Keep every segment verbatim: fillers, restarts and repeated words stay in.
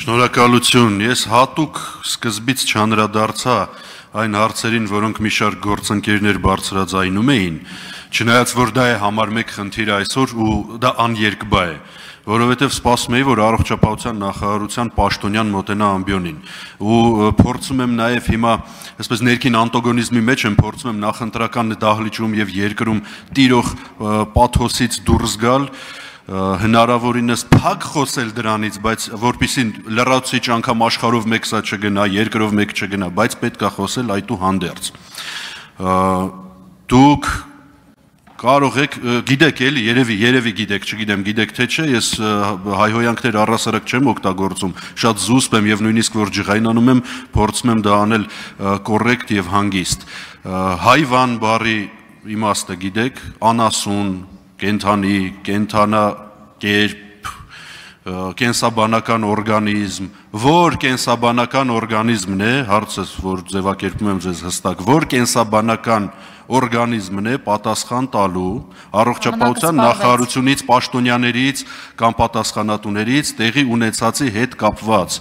Շնորհակալություն, ես հատուկ սկզբից չանդրադարձա այն հարցերին, որոնք մի շարք գործընկերներ բարձրաձայնում էին, չնայած որ դա է համար մեկ խնդիրը այսօր ու դա աներկբա է, որովհետև սպասում էի, որ առողջապահության նախարարության պաշտոնյան մոտենա ամբիոնին ու փորձում եմ նաև հիմա այսպես ներքին անտագոնիզմի մեջ եմ փորձում եմ նախընտրական դահլիճում եւ երկրում տիրող պաթոսից դուրս գալ հնարավորինս փակ խոսել դրանից, բայց որպեսզի լրացուցիչ անգամ աշխարհով մեկ սա չգնա, երկրով մեկ չգնա, բայց պետք է խոսել այդուհանդերձ։ Դուք կարող եք, գիտեք էլի, երևի, երևի գիտեք, չգիտեմ, գիտեք թե չէ, ես հայհոյանքներ առհասարակ չեմ օգտագործում, շատ զուսպ եմ եւ նույնիսկ որ ջղայնանում եմ, փորձում եմ դա անել կոռեկտ եւ հանգիստ։ Հայվան բառի իմաստը գիտեք, անասուն, կենթանի, կենթանա կերպ, կենսաբանական օրգանիզմ, որ կենսաբանական օրգանիզմն է, հարցս, որ ձևակերպում եմ ձեզ հստակ, որ կենսաբանական օրգանիզմն է պատասխան տալու առողջապահության նախարարությունից, պաշտոնյաներից կամ պատասխանատուներից տեղի ունեցածի հետ կապված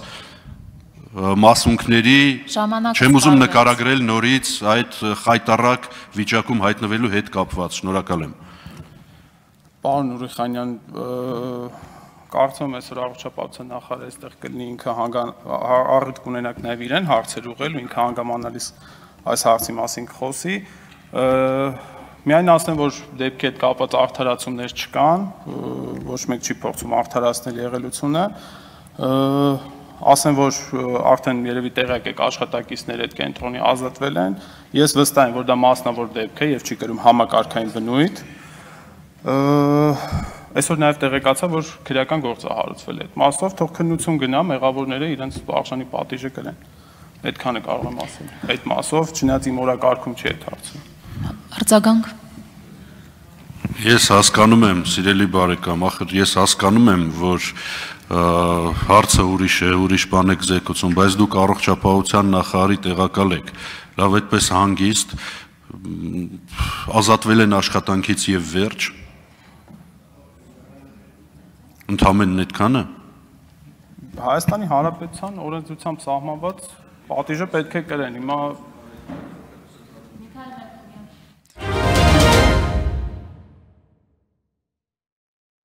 մասունքների, չեմ ուզում նկարագրել նորից այդ խայտառակ վիճակում հայտնվելու հետ կապված, շնորհակալ եմ։ Պարոն Ուրիխանյան, կարծում եմ այսօր առողջապահության նախարարը այստեղ կլինի ինքը առիթ կունենաք նաև իրեն հարցեր ուղղել ու ինքը հանգամանալիս այս հարցի մասին կխոսի։ Միայն ասեմ, որ դեպքի հետ կապված արդարացումներ չկան, ոչ մեկ չի փորձում արդարացնել եղելությունը։ Ասեմ, որ արդեն երևի տեղյակ եք աշխատակիցներ այդ կենտրոնի ազատվել են։ Ես վստահ եմ, որ դա մասնավոր դեպք է եւ չի կրում համակարգային բնույթ։ Այսօր նաև տեղեկացա, որ քրեական գործ է հարուցվել այդ մասով, թող քննություն գնա, մեղավորները իրենց արժանի պատիժը կրեն։ Այդքանը կարող եմ ասել։ Այդ մասով, չնայած իմ օրակարգում չի այդ հարցը։ Արձագանք։ Ես հասկանում եմ, սիրելի բարեկամ, ախր ես հասկանում եմ, որ հարցը ուրիշ է, ուրիշ բան եք զեկուցում, բայց դուք առողջապահության նախարարի տեղակալ եք, լավ այդպես հանգիստ, ազատվել են աշխատանքից եւ վերջ։ Ընդհանրեն այդքանը։ Հայաստանի Հանրապետության օրենսդրությամբ սահմանված պատիժը պետք է կրեն։ Հիմա